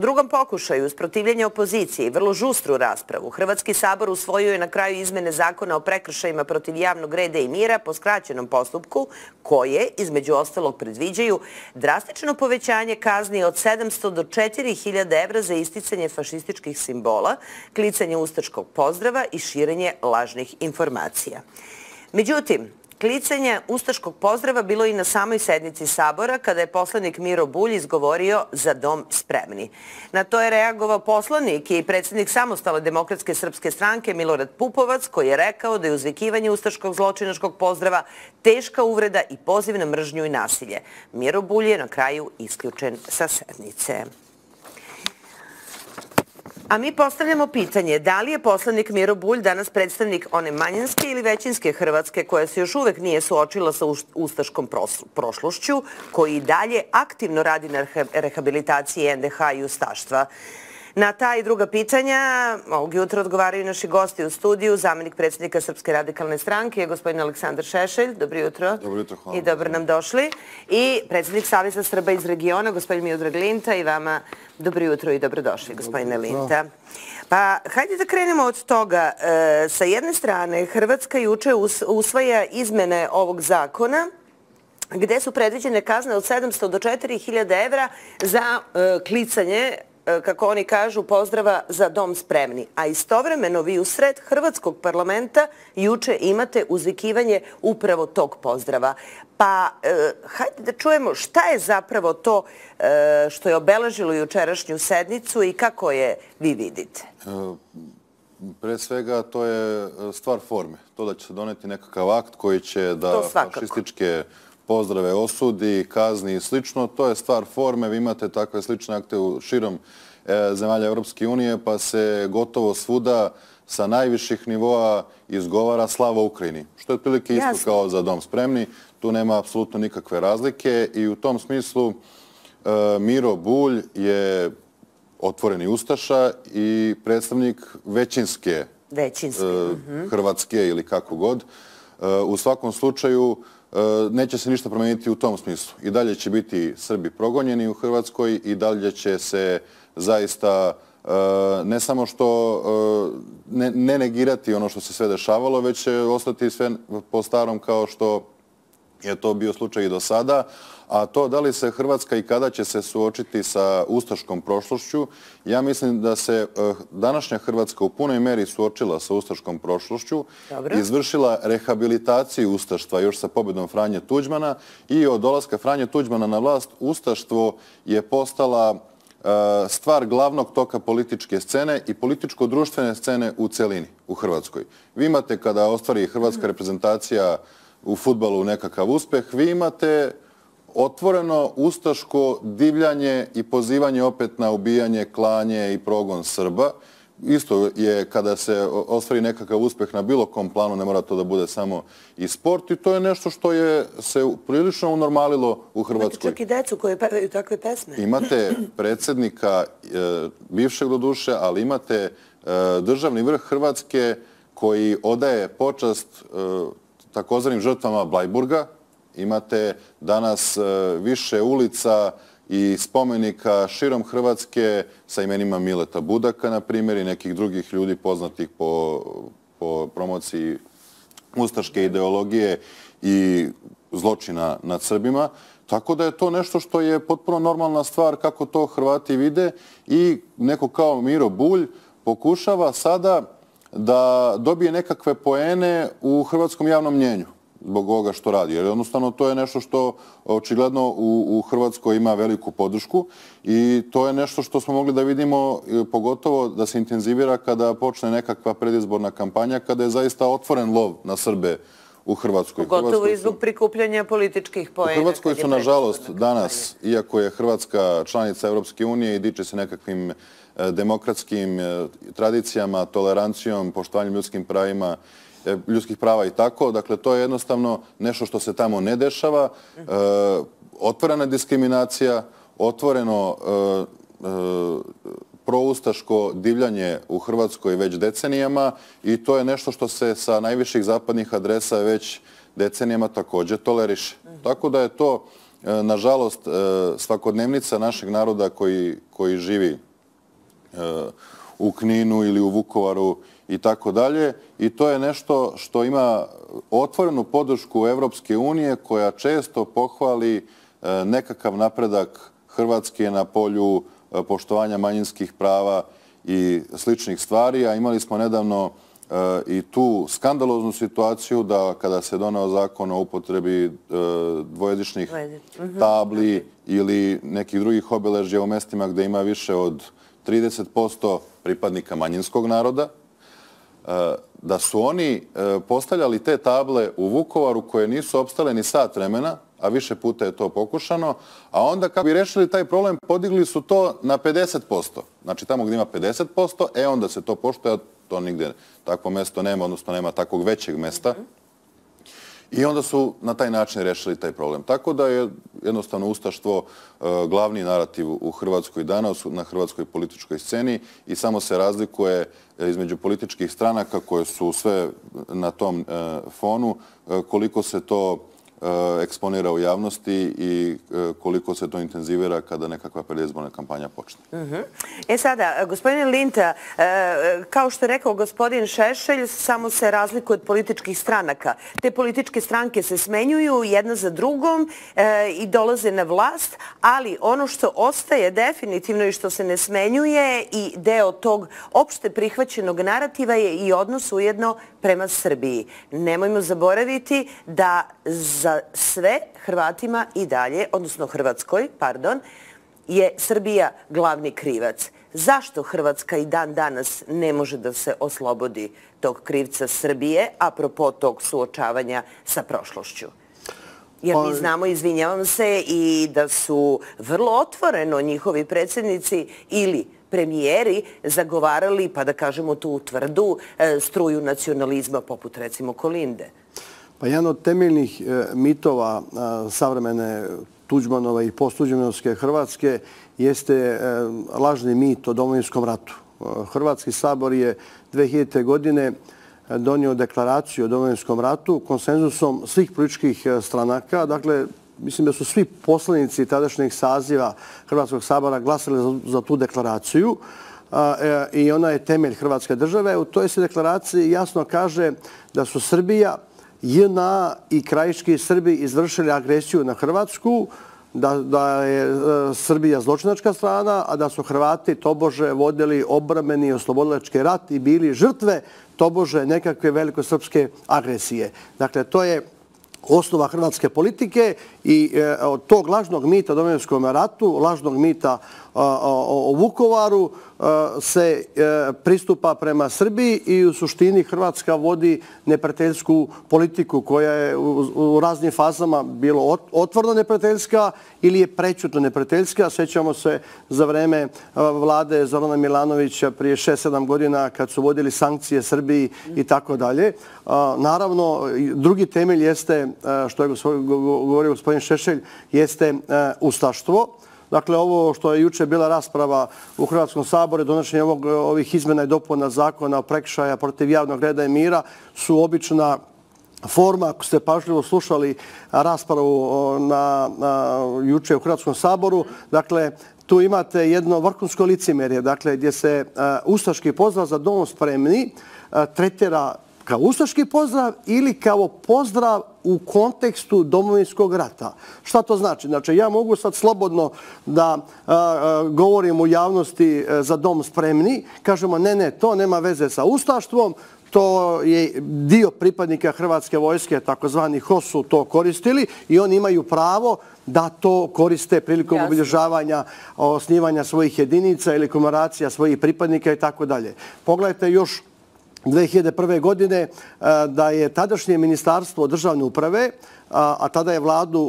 drugom pokušaju usprotivljenja opozicije i vrlo žustru raspravu, Hrvatski sabor usvojio je na kraju izmene zakona o prekršajima protiv javnog reda i mira po skraćenom postupku, koje, između ostalog, predviđaju drastično povećanje kazni od 700 do 4000 evra za isticanje fašističkih simbola, klicanje ustaškog pozdrava i širenje lažnih informacija. Međutim, klicanje ustaškog pozdrava bilo i na samoj sednici Sabora kada je poslanik Miro Bulj izgovorio "Za dom spremni". Na to je reagovao poslanik i predsjednik Samostalne demokratske srpske stranke Milorad Pupovac, koji je rekao da je uzvikivanje ustaškog zločinačkog pozdrava teška uvreda i poziv na mržnju i nasilje. Miro Bulj je na kraju isključen sa sednice. A mi postavljamo pitanje da li je poslanik Miro Bulj danas predstavnik one manjinske ili većinske Hrvatske koja se još uvek nije suočila sa ustaškom prošlošću, koji i dalje aktivno radi na rehabilitaciji NDH i ustaštva. Na ta i druga pitanja ovog jutra odgovaraju naši gosti u studiju, zamenik predsjednika Srpske radikalne stranke, gospodin Aleksandar Šešelj. Dobro jutro. Dobro jutro, hvala. I dobro nam došli. I predsjednik Saveza Srba iz regiona, gospodin Miodrag Linta. I vama dobro jutro i dobrodošli, gospodine Linta. Pa, hajde da krenemo od toga. Sa jedne strane, Hrvatska juče usvaja izmene ovog zakona gde su predviđene kazne od 700 do 4000 evra za klicanje, kako oni kažu, pozdrava "Za dom spremni". A istovremeno vi u sred Hrvatskog parlamenta juče imate uzvikivanje upravo tog pozdrava. Pa hajde da čujemo šta je zapravo to što je obeležilo jučerašnju sednicu i kako je vi vidite. Pre svega to je stvar forme. To da će se doneti nekakav akt koji će da fašističke pozdrave osudi, kazni i slično, to je stvar forme. Vi imate takve slične akte u širom zemalja Europske unije, pa se gotovo svuda sa najviših nivoa izgovara "Slava Ukrajini", što je otprilike isto kao "Za dom spremni". Tu nema apsolutno nikakve razlike i u tom smislu Miro Bulj je otvoreni ustaša i predstavnik većinske Hrvatske ili kako god. U svakom slučaju neće se ništa promeniti u tom smislu. I dalje će biti Srbi progonjeni u Hrvatskoj i dalje će se zaista ne samo što ne negirati ono što se sve dešavalo, već će ostati sve po starom kao što je to bio slučaj i do sada. A to da li se Hrvatska i kada će se suočiti sa ustaškom prošlošću, ja mislim da se današnja Hrvatska u punoj meri suočila sa ustaškom prošlošću, izvršila rehabilitaciju ustaštva još sa pobjedom Franje Tuđmana i od dolaska Franje Tuđmana na vlast ustaštvo je postala stvar glavnog toka političke scene i političko-društvene scene u celini u Hrvatskoj. Vi imate, kada ostvari hrvatska reprezentacija u fudbalu nekakav uspeh, vi imate otvoreno ustaško divljanje i pozivanje opet na ubijanje, klanje i progon Srba. Isto je kada se ostvari nekakav uspeh na bilo kom planu, ne mora to da bude samo i sport, i to je nešto što je se prilično unormalilo u Hrvatskoj. Imate čak i decu koje pevaju takve pesme. Imate predsjednika, bivšeg do duše, ali imate državni vrh Hrvatske koji odaje počast takozvanim žrtvama Blajburga. Imate danas više ulica i spomenika širom Hrvatske sa imenima Mileta Budaka, na primjer, i nekih drugih ljudi poznatih po promociji ustaške ideologije i zločina nad Srbima. Tako da je to nešto što je potpuno normalna stvar kako to Hrvati vide i neko kao Miro Bulj pokušava sada da dobije nekakve poene u hrvatskom javnom mnjenju zbog ovoga što radi. Jer jednostavno to je nešto što očigledno u Hrvatskoj ima veliku podršku i to je nešto što smo mogli da vidimo, pogotovo da se intenzivira kada počne nekakva predizborna kampanja, kada je zaista otvoren lov na Srbe u Hrvatskoj. Pogotovo i zbog prikupljanja političkih poena. U Hrvatskoj su, nažalost, danas, iako je Hrvatska članica Europske unije i diče se nekakvim demokratskim tradicijama, tolerancijom, poštovanjem ljudskih prava i tako. Dakle, to je jednostavno nešto što se tamo ne dešava. Otvorena diskriminacija, otvoreno proustaško divljanje u Hrvatskoj već decenijama i to je nešto što se sa najviših zapadnih adresa već decenijama također toleriše. Tako da je to, nažalost, svakodnevnica našeg naroda koji živi u Kninu ili u Vukovaru i tako dalje. I to je nešto što ima otvorenu podršku Evropske unije koja često pohvali nekakav napredak Hrvatske na polju poštovanja manjinskih prava i sličnih stvari, a imali smo nedavno i tu skandaloznu situaciju da kada se doneo zakon o upotrebi dvojezičnih tabli ili nekih drugih obeležja u mestima gde ima više od 30% pripadnika manjinskog naroda, da su oni postavljali te table u Vukovaru koje nisu opstale ni sat vremena, a više puta je to pokušano, a onda kako bi rešili taj problem, podigli su to na 50%. Znači tamo gdje ima 50%, onda se to poštuje, to nigde takvo mesto nema, odnosno nema takvog većeg mesta. I onda su na taj način rešili taj problem. Tako da je jednostavno ustaštvo glavni narativ u Hrvatskoj danas, na hrvatskoj političkoj sceni i samo se razlikuje između političkih stranaka koje su sve na tom fonu, koliko se to eksponira u javnosti i koliko se to intenzivira kada nekakva predizborna kampanja počne. Sada, gospodine Linta, kao što je rekao gospodin Šešelj, samo se razlikuje od političkih stranaka. Te političke stranke se smenjuju jedna za drugom i dolaze na vlast, ali ono što ostaje definitivno i što se ne smenjuje i deo tog opšte prihvaćenog narativa je i odnos ujedno prema Srbiji. Nemojmo zaboraviti da za sve Hrvatima i dalje, odnosno Hrvatskoj, je Srbija glavni krivac. Zašto Hrvatska i dan danas ne može da se oslobodi tog krivca Srbije, apropo tog suočavanja sa prošlošću? Jer mi znamo, izvinjavam se, i da su vrlo otvoreno njihovi predsjednici ili premijeri zagovarali, pa da kažemo tu tvrdu, struju nacionalizma poput recimo Kolinde. Pa jedan od temeljnih mitova savremene Tuđmanove i posttuđmanovske Hrvatske jeste lažni mit o Domovinskom ratu. Hrvatski sabor je 2000. godine donio deklaraciju o Domovinskom ratu konsenzusom svih političkih stranaka. Dakle, mislim da su svi poslanici tadašnjeg saziva Hrvatskog sabora glasali za tu deklaraciju i ona je temelj Hrvatske države. U toj se deklaraciji jasno kaže da su Srbija, JNA i krajiški Srbi izvršili agresiju na Hrvatsku, da je Srbija zločinačka strana, a da su Hrvati tobože vodili obrambeni i oslobodilački rat i bili žrtve tobože nekakve velikosrpske agresije. Dakle, to je osnova hrvatske politike i od tog lažnog mita o Domovinskom ratu, lažnog mita o Vukovaru se pristupa prema Srbiji i u suštini Hrvatska vodi neprijateljsku politiku koja je u raznim fazama bilo otvoreno neprijateljska ili je prećutno neprijateljska. Sjećamo se za vreme vlade Zorana Milanovića prije 6-7 godina kad su vodili sankcije Srbiji i tako dalje. Naravno, drugi temelj jeste, što je govorio gospodin Šešelj, jeste ustaštvo. Dakle, ovo što je juče bila rasprava u Hrvatskom saboru, donošenje ovih izmjena i dopuna zakona o prekršaja protiv javnog reda i mira su obična forma. Ako ste pažljivo slušali raspravu juče u Hrvatskom saboru, dakle, tu imate jedno vrhunsko licemjerje, dakle, gdje se ustaški pozdrav za dom spremni tretira kao ustaški pozdrav ili kao pozdrav u kontekstu Domovinskog rata. Šta to znači? Znači, ja mogu sad slobodno da govorim u javnosti za dom spremni. Kažemo, ne, to nema veze sa ustaštvom. To je dio pripadnika Hrvatske vojske, takozvani HOS, su to koristili i oni imaju pravo da to koriste prilikom obilježavanja, osnivanja svojih jedinica ili komemoracija svojih pripadnika i tako dalje. Pogledajte još 2001. godine da je tadašnje ministarstvo državne uprave, a tada je vladu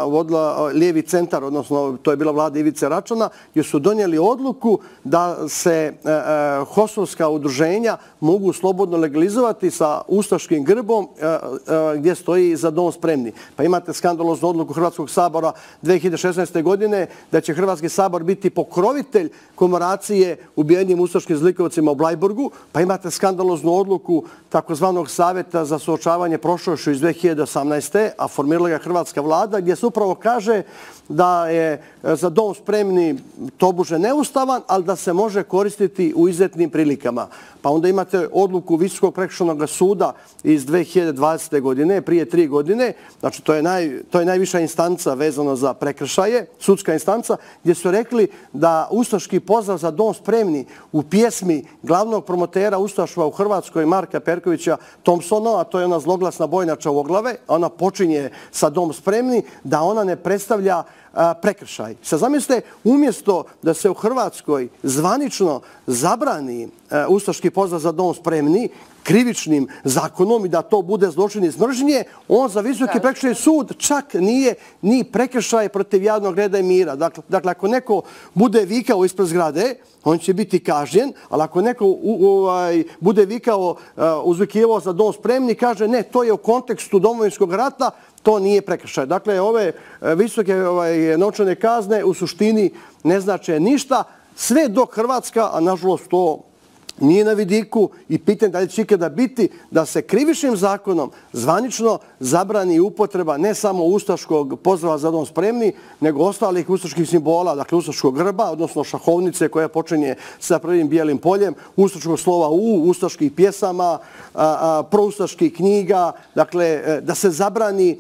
vodila lijevi centar, odnosno to je bila vlada Ivice Račana, jer su donijeli odluku da se HOS-ovska udruženja mogu slobodno legalizovati sa ustaškim grbom gdje stoji za dom spremni. Pa imate skandaloznu odluku Hrvatskog sabora 2016. godine da će Hrvatski sabor biti pokrovitelj komemoracije ubijenim ustaškim zlikovcima u Blajburgu, pa imate skandaloznu odluku takozvanog Savjeta za suočavanje prošlošću iz 2018. 2018. a formirala ga hrvatska vlada, gdje se upravo kaže da je za dom spremni tobože neustavan, ali da se može koristiti u izuzetnim prilikama. Pa onda imate odluku Visokog prekršajnog suda iz 2020. godine, prije 3 godine, znači to je najviša instanca vezano za prekršaje, sudska instanca, gdje su rekli da ustaški pozdrav za dom spremni u pjesmi glavnog promotera ustaštva u Hrvatskoj, Marka Perkovića Thompsona, a to je ona zloglasna bojnača u oglave, ona počinje sa dom spremni, da ona ne predstavlja prekršaj. Sad zamislite, umjesto da se u Hrvatskoj zvanično zabrani ustaški pozdrav za dom spremni krivičnim zakonom i da to bude zločin iz mržnje, on za Visoki prekršajni sud čak nije ni prekršaj protiv javnog reda i mira. Dakle, ako neko bude vikao ispred zgrade, on će biti kažnjen, ali ako neko bude vikao, uzvikivao za dom spremni, kaže ne, to je u kontekstu Domovinskog rata, to nije prekršaj. Dakle, ove visoke novčane kazne u suštini ne znače ništa, sve dok Hrvatska, a nažalost to nije na vidiku i pitanje da li će ikada biti, da se krivičnim zakonom zvanično zabrani upotreba ne samo ustaškog pozdrava za dom spremni, nego ostalih ustaških simbola, dakle ustaškog grba, odnosno šahovnice koja počinje sa prvim bijelim poljem, ustaškog slova U, ustaških pjesama, proustaških knjiga, dakle da se zabrani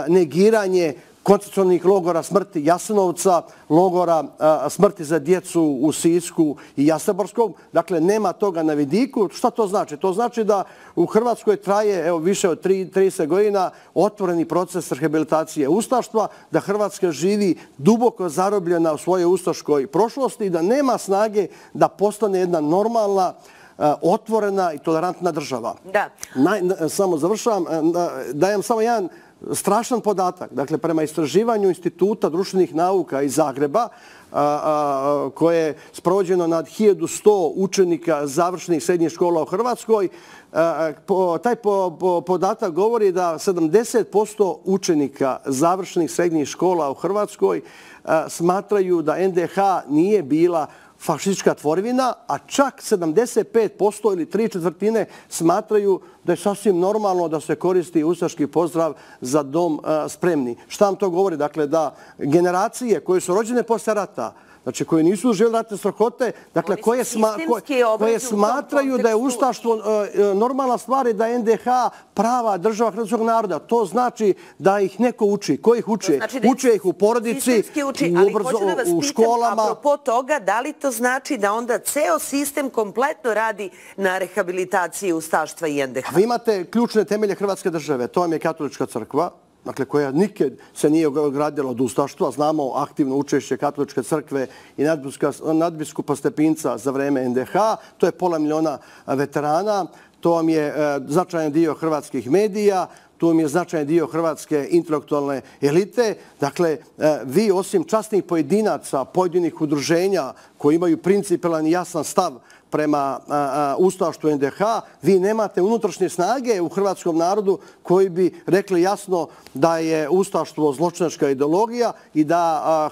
negiranje koncentracionih logora smrti Jasenovca, logora smrti za djecu u Sisku i Jastrebarskom. Dakle, nema toga na vidiku. Šta to znači? To znači da u Hrvatskoj traje više od 30 godina otvoreni proces rehabilitacije ustaštva, da Hrvatska živi duboko zarobljena u svojoj ustaškoj prošlosti i da nema snage da postane jedna normalna, otvorena i tolerantna država. Da. Samo završavam. Dajem samo jedan strašan podatak. Dakle, prema istraživanju Instituta društvenih nauka iz Zagreba, koje je sprovođeno nad 1100 učenika završenih srednjih škola u Hrvatskoj, taj podatak govori da 70% učenika završenih srednjih škola u Hrvatskoj smatraju da NDH nije bila fašistička tvorevina, a čak 75% ili 3/4 smatraju da je sasvim normalno da se koristi ustaški pozdrav za dom spremni. Šta vam to govori? Dakle, da generacije koje su rođene posle rata, znači koje nisu doživjeli ratne strahote, dakle koje smatraju da je ustaštvo normalna stvar i da je NDH prava država hrvatskog naroda. To znači da ih neko uči. Ko ih uče? Uče ih u porodici, u školama. Apropo toga, da li to znači da onda ceo sistem kompletno radi na rehabilitaciji ustaštva i NDH? Vi imate ključne temelje Hrvatske države. To vam je katolička crkva, dakle, koja nikad se nije gradila od ustaštva. Znamo aktivno učešće katoličke crkve i nadbiskupa Stepinca za vreme NDH. To je 500 000 veterana. To vam je značajan dio hrvatskih medija. Tu vam je značajan dio hrvatske intelektualne elite. Dakle, vi osim časnih pojedinaca, pojedinih udruženja koji imaju principijelan i jasan stav prema ustaštvu NDH, vi nemate unutrašnje snage u hrvatskom narodu koji bi rekli jasno da je ustaštvo zločinačka ideologija i da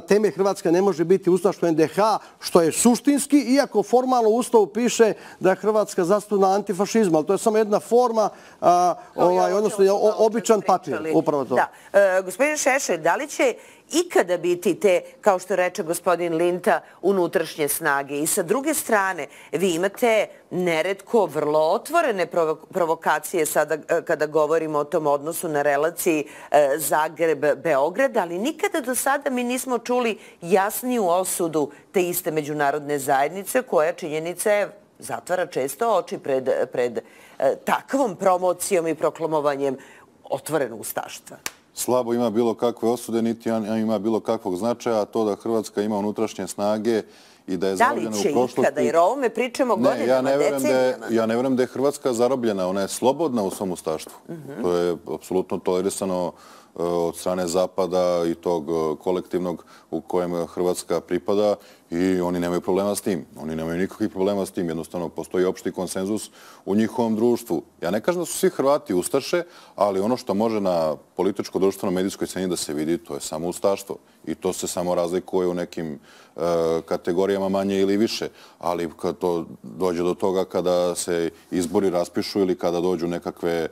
temelj Hrvatske ne može biti ustaštvo NDH, što je suštinski, iako formalno u Ustavu piše da je Hrvatska zasnovana antifašizma, ali to je samo jedna forma, odnosno običan papir. Upravo to. Gospodin Šešelj, da li će ikada biti te, kao što reče gospodin Linta, unutrašnje snage? I sa druge strane, vi imate neretko vrlo otvorene provokacije sada kada govorimo o tom odnosu na relaciji Zagreb-Beograd, ali nikada do sada mi nismo čuli jasniju osudu te iste međunarodne zajednice koja činjenica zatvara često oči pred takvom promocijom i proklamovanjem otvorenog ustaštva. Slabo ima bilo kakve osude, niti ima bilo kakvog značaja, a to da Hrvatska ima unutrašnje snage i da je zarobljena u prošlosti. Da li će ikada, jer o ovome pričamo godinama, decenijama? Ja ne vjerujem da je Hrvatska zarobljena, ona je slobodna u svom ustaštvu. To je apsolutno tolerisano od strane Zapada i tog kolektivnog u kojem Hrvatska pripada i oni nemaju problema s tim. Oni nemaju nikakvih problema s tim. Jednostavno, postoji opšti konsenzus u njihovom društvu. Ja ne kažem da su svi Hrvati ustaše, ali ono što može na političko-društveno-medijskoj sceni da se vidi, to je samo ustaštvo. I to se samo razlikuje u nekim kategorijama teritorija manje ili više, ali kad to dođe do toga kada se izbori raspišu ili kada dođu nekakve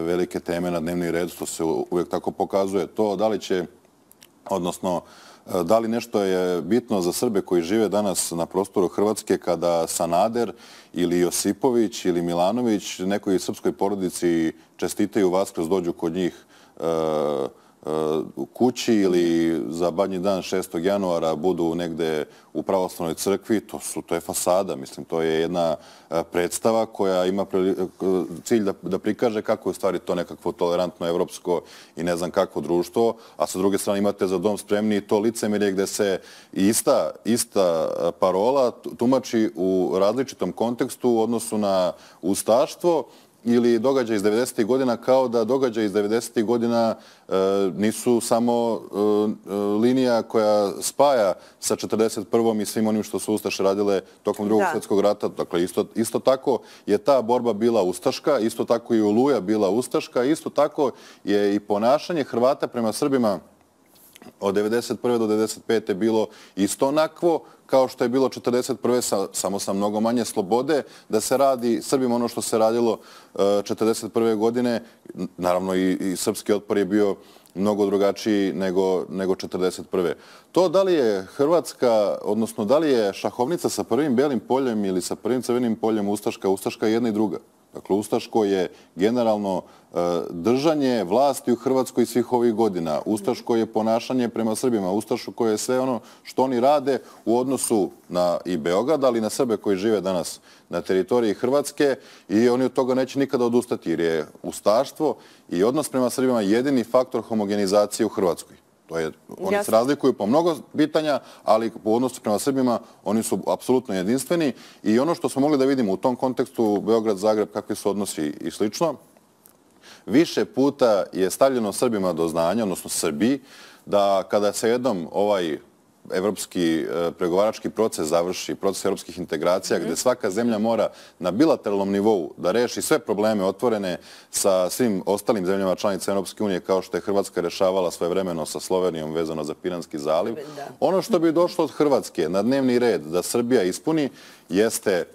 velike teme na dnevni red, to se uvijek tako pokazuje. To da li će, odnosno da li nešto je bitno za Srbe koji žive danas na prostoru Hrvatske kada Sanader ili Josipović ili Milanović nekoj srpskoj porodici čestitaju Vaskrs, dođu kod njih u kući ili za Badnji dan 6. januara budu negde u pravoslavnoj crkvi, to je fasada. Mislim, to je jedna predstava koja ima cilj da prikaže kako je u stvari to nekakvo tolerantno evropsko i ne znam kakvo društvo, a sa druge strane imate Za dom spremni i to licemerje gde se ista parola tumači u različitom kontekstu u odnosu na ustaštvo ili događaj iz 90. godina, kao da događaj iz 90. godina nisu samo linija koja spaja sa 41. i svim onim što su Ustaše radile tokom Drugog svjetskog rata. Dakle, isto tako je ta borba bila ustaška, isto tako i Oluja bila ustaška, isto tako je i ponašanje Hrvata prema Srbima od 1991. do 1995. bilo isto onakvo kao što je bilo 1941. samo sa mnogo manje slobode da se radi Srbima ono što se radilo 1941. godine. Naravno i srpski otpor je bio mnogo drugačiji nego 1941. To da li je Hrvatska, odnosno da li je šahovnica sa prvim belim poljem ili sa prvim crvenim poljem ustaška je jedna i druga. Dakle, ustaško je generalno držanje vlasti u Hrvatskoj svih ovih godina. Ustaško je ponašanje prema Srbima. Ustaško je sve ono što oni rade u odnosu na i Beograd, ali i na Srbe koji žive danas na teritoriji Hrvatske i oni od toga neće nikada odustati jer je ustaštvo i odnos prema Srbima jedini faktor homogenizacije u Hrvatskoj. Oni se razlikuju po mnogo pitanja, ali u odnosu prema Srbima oni su apsolutno jedinstveni i ono što smo mogli da vidimo u tom kontekstu Beograd-Zagreb, kakvi su odnosi i slično, više puta je stavljeno Srbima do znanja, odnosno Srbiji, da kada se jednom ovaj evropski pregovarački proces završi, proces evropskih integracija, gde svaka zemlja mora na bilateralnom nivou da reši sve probleme otvorene sa svim ostalim zemljama članica Europske unije, kao što je Hrvatska rešavala svojevremeno sa Slovenijom vezano za Piranski zaliv. Ono što bi došlo od Hrvatske na dnevni red da Srbija ispuni jeste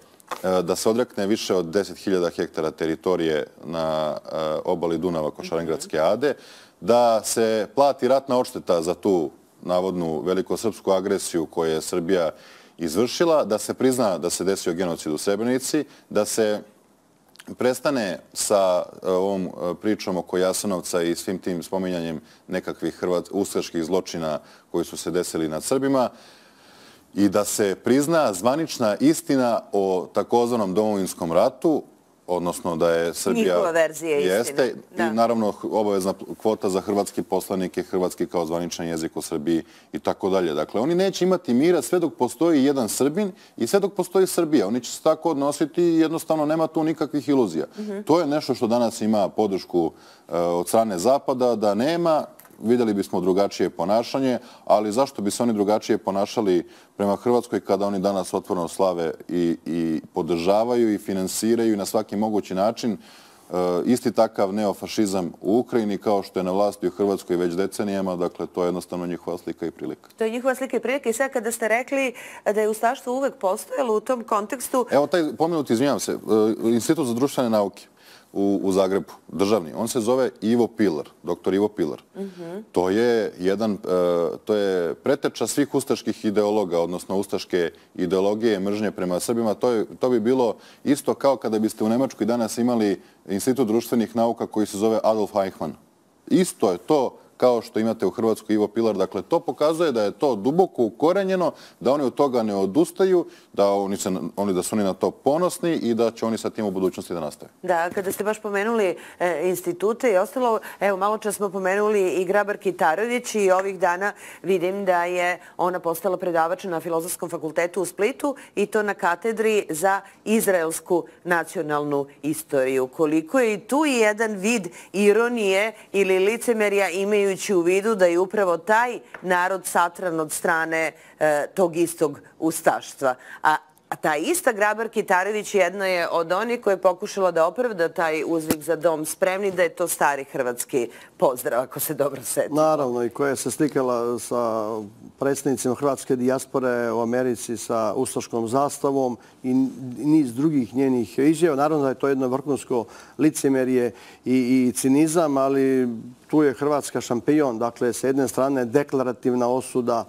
da se odrekne više od 10.000 hektara teritorije na obali Dunava kod Šarengradske ade, da se plati ratna odšteta za tu navodnu velikosrpsku agresiju koju je Srbija izvršila, da se prizna da se desio genocid u Srebrenici, da se prestane sa ovom pričom oko Jasenovca i svim tim spominjanjem nekakvih ustaških zločina koji su se desili nad Srbima i da se prizna zvanična istina o takozvanom Domovinskom ratu, odnosno da je Srbija... Njihova verzija istine. I naravno obavezna kvota za hrvatski poslanike, hrvatski kao zvaničan jezik u Srbiji i tako dalje. Dakle, oni neće imati mira sve dok postoji jedan Srbin i sve dok postoji Srbija. Oni će se tako odnositi i jednostavno nema tu nikakvih iluzija. To je nešto što danas ima podršku od strane Zapada, da nema. Vidjeli bismo drugačije ponašanje, ali zašto bi se oni drugačije ponašali prema Hrvatskoj kada oni danas otvoreno slave i podržavaju i finansiraju na svaki mogući način isti takav neofašizam u Ukrajini kao što je na vlasti u Hrvatskoj već decenijama. Dakle, to je jednostavno njihova slika i prilika. To je njihova slika i prilika i sad kada ste rekli da je ustaštvo uvek postojalo u tom kontekstu... Evo taj pomenuti, izvinjavam se, Institut za društvene nauke u Zagrebu, državni. On se zove Ivo Pilar, doktor Ivo Pilar. To je preteča svih ustaških ideologa, odnosno ustaške ideologije mržnje prema Srbima. To bi bilo isto kao kada biste u Nemačkoj danas imali Institut društvenih nauka koji se zove Adolf Eichmann. Isto je to kao što imate u Hrvatskoj Ivo Pilar. Dakle, to pokazuje da je to duboko ukorenjeno, da oni od toga ne odustaju, da su oni na to ponosni i da će oni sa tim u budućnosti da nastave. Da, kada ste baš pomenuli institute i ostalo, evo, malo čas smo pomenuli i Grabar Kitarović i ovih dana vidim da je ona postala predavač na Filozofskom fakultetu u Splitu i to na katedri za izraelsku nacionalnu istoriju. Koliko je i tu jedan vid ironije ili licemerja imajući u vidu da je upravo taj narod satran od strane tog istog ustaštva. A A ta ista Grabar-Kitarović jedna je od onih koja je pokušala da opravda taj uzvik za dom spremni, da je to stari hrvatski pozdrav, ako se dobro setimo. Naravno, i koja se slikala sa predstavnicima hrvatske dijaspore u Americi sa ustaškom zastavom i niz drugih njenih izjava. Naravno da je to jedno vrhunsko licemjerje i cinizam, ali tu je Hrvatska šampion. Dakle, sa jedne strane deklarativna osuda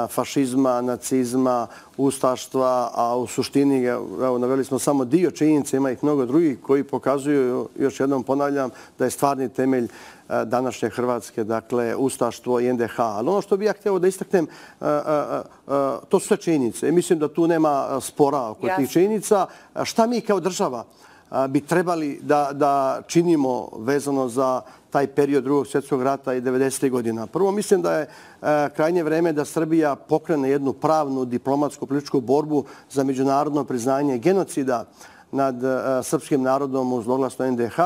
fašizma, nacizma, ustaštva, a u suštini, evo, naveli smo samo dio činjenica, ima ih mnogo drugih koji pokazuju, još jednom ponavljam, da je stvarni temelj današnje Hrvatske, dakle, ustaštvo i NDH. Ali ono što bih ja htio da istaknem, to su sve činjenice. I mislim da tu nema spora oko tih činjenica. Šta mi kao država bi trebali da činimo vezano za taj period Drugog svjetskog rata i 90. godina? Prvo, mislim da je krajnje vreme da Srbija pokrene jednu pravnu, diplomatsku, političku borbu za međunarodno priznanje genocida nad srpskim narodom u zloglasnoj NDH.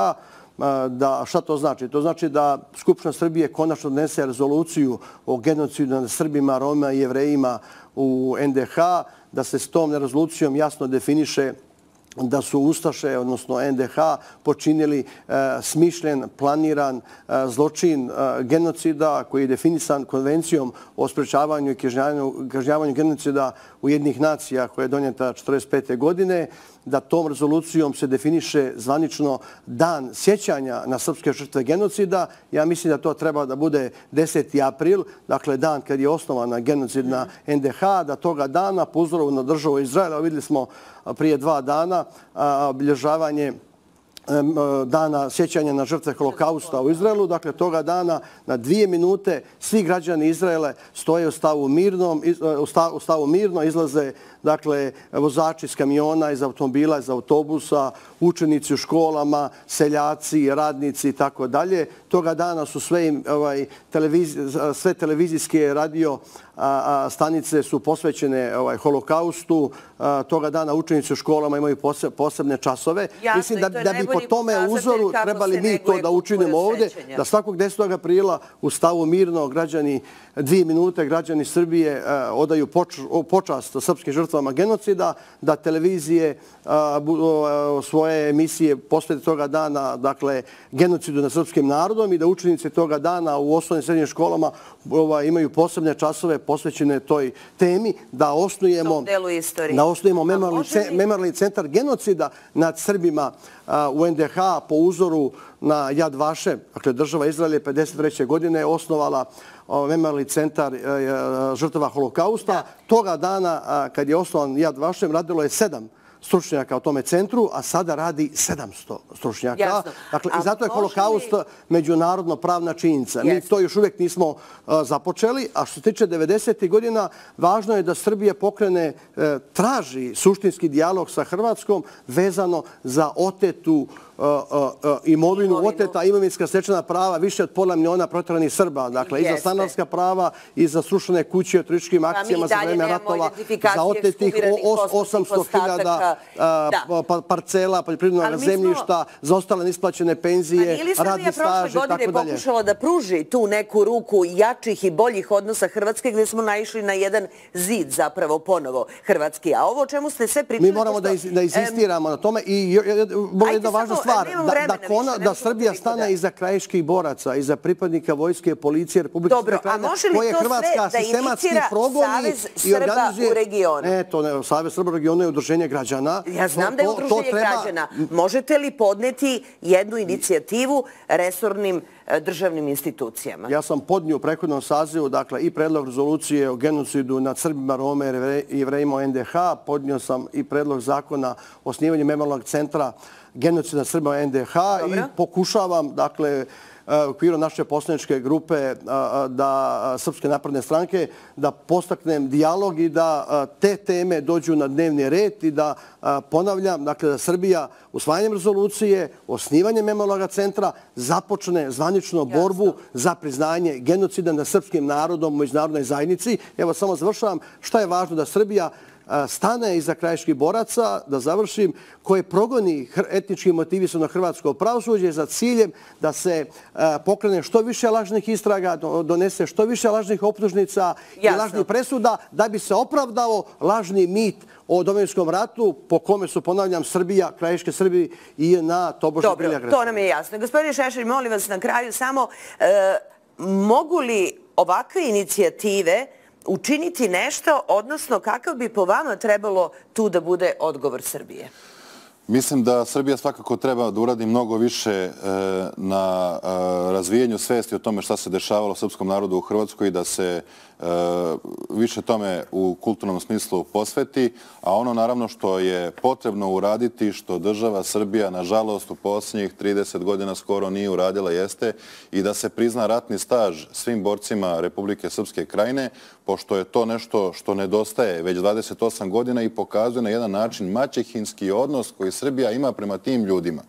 Šta to znači? To znači da Skupština Srbije konačno donese rezoluciju o genocidu nad Srbima, Romima i Jevrejima u NDH, da se s tom rezolucijom jasno definiše da su Ustaše, odnosno NDH, počinili smišljen, planiran zločin genocida koji je definisan Konvencijom o sprečavanju i kažnjavanju genocida Ujedinjenih nacija koja je donijeta 1945. godine, da tom rezolucijom se definiše zvanično dan sjećanja na srpske žrtve genocida. Ja mislim da to treba da bude 10. april, dakle dan kad je osnovana genocidna NDH, da toga dana po uzoru na državu Izraela, vidjeli smo prije 2 dana obilježavanje dana sjećanja na žrtve holokausta u Izraelu. Dakle, toga dana na 2 minute svi građani Izraela stoje u stavu mirno, izlaze dakle vozači iz kamiona, iz automobila, iz autobusa, učenici u školama, seljaci, radnici i tako dalje. Toga dana su sve televizijske radio stanice su posvećene holokaustu. Toga dana učenici u školama imaju posebne časove. Mislim da bi po tome uzoru trebali mi to da učinimo ovdje, da svakog 10. aprila u stavu mirno građani 2 minute građani Srbije odaju počast srpskim žrtvama genocida, da televizije svoje emisije posvete toga dana, dakle, genocidu nad srpskim narodom i da učenici toga dana u osnovnim i srednjim školama imaju posebne časove posvećene toj temi, da osnujemo memorijalni centar genocida nad Srbima u NDH po uzoru na Yad Vashem. Dakle, država Izrael je 1953. godine osnovala memorijalni centar žrtava holokausta. Toga dana, kad je osnovan Yad Vashem, radilo je 7 stručnjaka u tome centru, a sada radi 700 stručnjaka. Dakle, i zato je holokaust međunarodno pravna činjenica. Mi to još uvijek nismo započeli, a što se tiče 90. godina, važno je da Srbija pokrene, traži suštinski dijalog sa Hrvatskom vezano za otetu imovinu, oteta imovinska stečena prava više od pola miliona proteranih Srba. Dakle, i za stanarska prava, i za srušene kuće u turističkim akcijama za vreme ratova, za otetih 800.000 parcela, poljoprivrednog zemljišta, za ostale neisplaćene penzije, radni staž i tako dalje. Ali godine pokušala da pruži tu neku ruku jačih i boljih odnosa Hrvatske, gdje smo naišli na jedan zid zapravo ponovo Hrvatski. A ovo o čemu ste sve pričali... Mi moramo da insistiramo na tome i jedna važna stvar, da Srbija stane iza krajiških boraca, iza pripadnika vojske, policije, Republike Srpske Krajine, koje Hrvatska sistematski progoni i organizuje... Savez Srba u regionu je udruženje građana. Ja znam da je udruženje građana. Možete li podneti jednu inicijativu resornim državnim institucijama? Ja sam podnio u prethodnom sazivu, dakle, i predlog rezolucije o genocidu nad Srbima, Roma i Jevrejima u NDH. Podnio sam i predlog zakona o osnivanju memorijalnog centra genocida nad Srbima u NDH i pokušavam, dakle, u okviru naše poslaničke grupe Srpske napredne stranke da postaknem dijalog i da te teme dođu na dnevni red i da ponavljam, dakle, da Srbija usvajanjem rezolucije, osnivanjem memorijalnog centra započne zvaničnu borbu za priznanje genocida nad srpskim narodom u međunarodnoj zajednici. Evo, samo završavam. Šta je važno? Da Srbija stane iza krajiških boraca, da završim, koje progoni etnički motivisano hrvatsko pravosuđe za ciljem da se pokrene što više lažnih istraga, donese što više lažnih optužnica i lažnih presuda, da bi se opravdao lažni mit o Domovinskom ratu, po kome su, ponavljam, Srbija, krajiške Srbije i na tobože bili agresori. Dobro, to nam je jasno. Gospodine Šešelj, molim vas na kraju samo, mogu li ovakve inicijative učiniti nešto, odnosno kakav bi po vama trebalo tu da bude odgovor Srbije? Mislim da Srbija svakako treba da uradi mnogo više na razvijenju svesti o tome šta se dešavalo srpskom narodu u Hrvatskoj i da se više tome u kulturnom smislu posveti, a ono naravno što je potrebno uraditi, što država Srbija nažalost u posljednjih 30 godina skoro nije uradila, jeste i da se prizna ratni staž svim borcima Republike Srpske Krajine, pošto je to nešto što nedostaje već 28 godina i pokazuje na jedan način maćehinski odnos koji Srbija ima prema tim ljudima.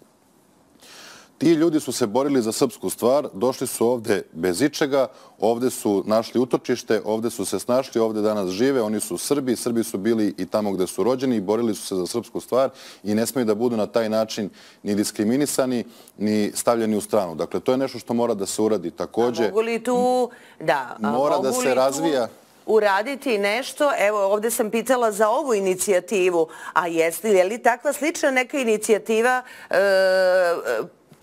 Ti ljudi su se borili za srpsku stvar, došli su ovde bez ičega, ovde su našli utočište, ovde su se snašli, ovde danas žive, oni su Srbi, Srbi su bili i tamo gde su rođeni i borili su se za srpsku stvar i ne smiju da budu na taj način ni diskriminisani, ni stavljeni u stranu. Dakle, to je nešto što mora da se uradi takođe. A mogu li tu, mora da se razvija uraditi nešto? Evo, ovde sam pitala za ovu inicijativu, a je li takva slična neka inicijativa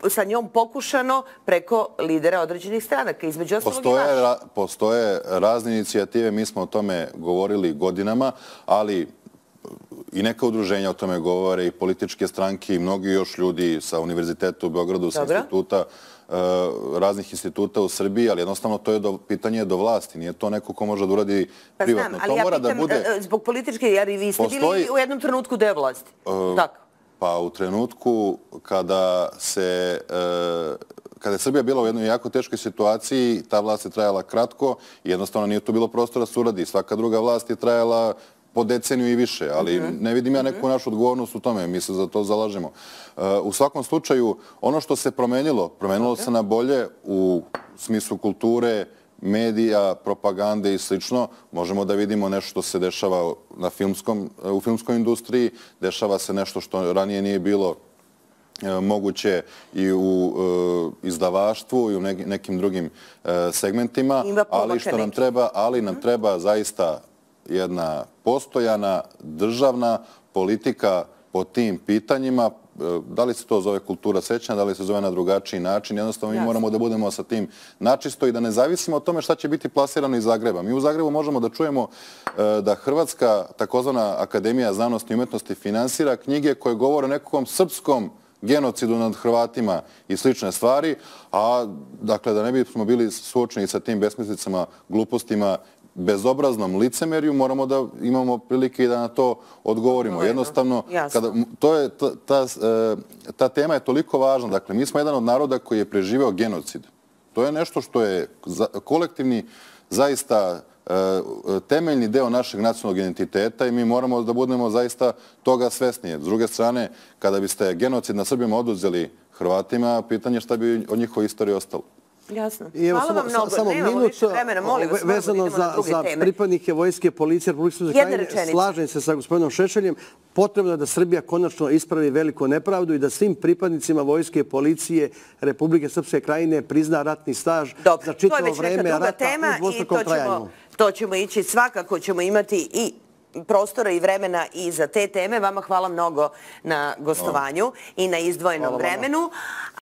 sa njom pokušano preko lidera određenih stranaka, između ostalog i vaše? Postoje razne inicijative, mi smo o tome govorili godinama, ali i neka udruženja o tome govore, i političke stranke, i mnogi još ljudi sa Univerziteta u Beogradu, sa instituta, raznih instituta u Srbiji, ali jednostavno to je pitanje do vlasti. Nije to neko ko može da uradi privatno. Pa znam, ali ja pitam zbog političke, jer i vi ste bili u jednom trenutku deo vlasti. Tako. Pa u trenutku kada je Srbija bila u jednoj jako teškoj situaciji, ta vlast je trajala kratko i jednostavno nije tu bilo prostora suradi. Svaka druga vlast je trajala po deceniju i više, ali ne vidim ja neku našu odgovornost u tome, mi se za to zalažemo. U svakom slučaju, ono što se promenilo se na bolje u smislu kulture, medija, propagande i slično. Možemo da vidimo nešto što se dešava u filmskoj industriji, dešava se nešto što ranije nije bilo moguće i u izdavaštvu i u nekim drugim segmentima, ali nam treba zaista jedna postojana državna politika po tim pitanjima. Da li se to zove kultura sećanja, da li se zove na drugačiji način, jednostavno mi moramo da budemo sa tim načisto i da ne zavisimo od tome šta će biti plasirano iz Zagreba. Mi u Zagrebu možemo da čujemo da Hrvatska takozvana Akademija znanosti i umetnosti finansira knjige koje govore o nekakvom srpskom genocidu nad Hrvatima i slične stvari, a dakle da ne bismo bili suočeni sa tim besmislicama, glupostima, bezobraznom licemerju, moramo da imamo prilike i da na to odgovorimo. Jednostavno, ta tema je toliko važna. Dakle, mi smo jedan od naroda koji je preživeo genocid. To je nešto što je kolektivni, zaista temeljni deo našeg nacionalnog identiteta i mi moramo da budemo zaista toga svesnije. S druge strane, kada biste genocid na Srbima oduzeli Hrvatima, pitanje šta bi od njihove istorije ostalo. Jasno. Hvala vam mnogo. Nemamo više vremena, molim vas, vezano za pripadnike vojske, policije Republike Srpske Krajine, slažem se sa gospodinom Šešeljem, potrebno je da Srbija konačno ispravi veliku nepravdu i da svim pripadnicima vojske i policije Republike Srpske Krajine prizna ratni staž za čitavo vreme rata u dvostrukom trajanju. To ćemo ići, svakako ćemo imati i prostora i vremena i za te teme. Vama hvala mnogo na gostovanju i na izdvojenom vremenu.